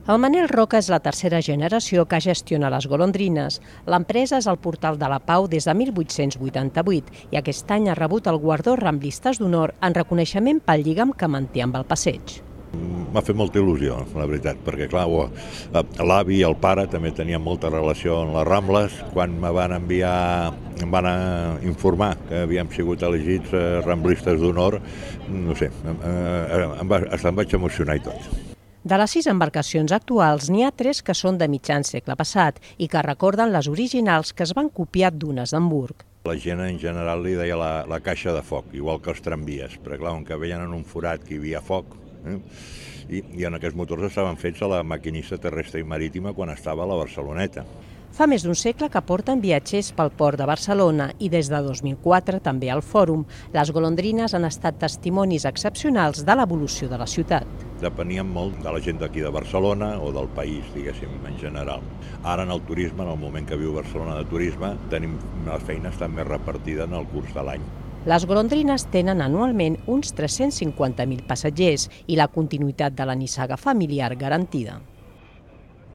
El Manel Roca és la tercera generació que gestiona les golondrines. L'empresa és al Portal de la Pau des de 1888 i aquest any ha rebut el guardó Ramblistes d'Honor en reconeixement pel lligam que manté amb el passeig. M'ha fet molta il·lusió, la veritat, perquè clar, l'avi i el pare també tenien molta relació amb les Rambles. Quan em van informar que havíem sigut elegits Ramblistes d'Honor, no sé, em vaig emocionar i tot. De les 6 embarcacions actuals, n'hi ha 3 que són de mitjan segle passat i que recorden les originals que es van copiar d'unes d'Hamburg. La gent en general li deia la caixa de foc, igual que els tramvies, perquè clar, on que veien en un forat que hi havia foc, i en aquests motors estaven fets a la maquinista terrestre i marítima quan estava a la Barceloneta. Fa més d'un segle que porten viatgers pel port de Barcelona i des de 2004 també al Fòrum. Les golondrines han estat testimonis excepcionals de l'evolució de la ciutat. Depenien molt de la gent d'aquí de Barcelona o del país, diguéssim, en general. Ara en el turisme, en el moment que viu Barcelona de turisme, tenim la feina està més repartida en el curs de l'any. Les golondrines tenen anualment uns 350.000 passatgers i la continuïtat de la nissaga familiar garantida.